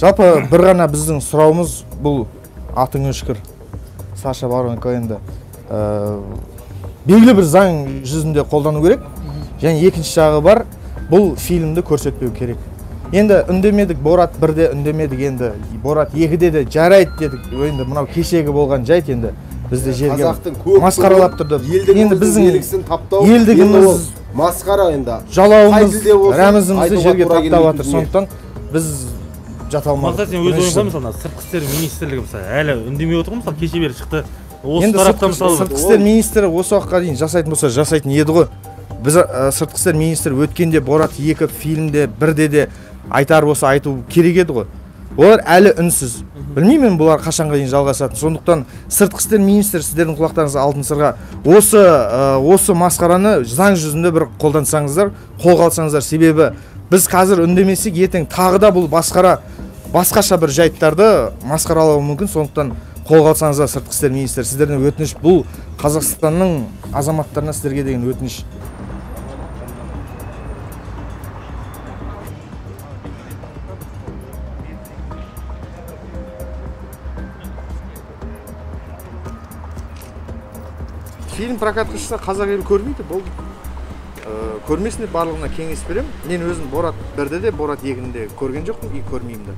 Жалпы бір ғана біздің сұрауымыз бұл атың өшкір Саша Барон Коэнді белгілі бір заң жүзінде қолдану керек. Және екінші жағы бар, бұл фильмді көрсетпеу керек. Енді үндемедік, Борат 1-де үндемедік, енді Борат 2-де де жарайды дедік. Енді мынау кешегі болған жайт, енді бізді жерге масқаралап тұрды. Енді біздің елдігіміз масқара, енді жалауымыз, рәмізімізді жерге таптап жатыр. Сондықтан біз жата алмадық. Мақсат, сен өз ойыңда мысалы сыртқы істер министрлігі мысалы әлі үндемей отыр ғой, мысалы кеше бері шықты. Осы тараптан мысалы сыртқы істер министрі осы уақытқа дейін жасайтын болса жасайтын еді ғой. Біз сыртқы істер министрі өткенде Борат 2 фильмде 1-де де айтар болса айту керек еді ғой. Олар әлі үнсіз. Білмеймін бұлар қашанға дейін жалғасатын. Сондықтан сыртқы істер министрі сіздердің құлақтарыңызға алтын сырға осы масқараны заң жүзінде бір қолдансаңыздар, қолға алсаңыздар. Себебі біз қазір үндемесек, ертең тағы да бұл басқаша бір жайттарды масқаралауы мүмкін. Сондықтан қолға алсаңыздар, сыртқы істер министрі, сіздерден өтініш, бұл Қазақстанның азаматтарына сіздерге деген өтініш. Фильм прокатқа шықса қазақ елі көрмейді, бұл көрмесіне барлығына кеңес берем. Мен өзім Борат 1-де де, Борат 2-де көрген жоқпын, и көрмеймін де.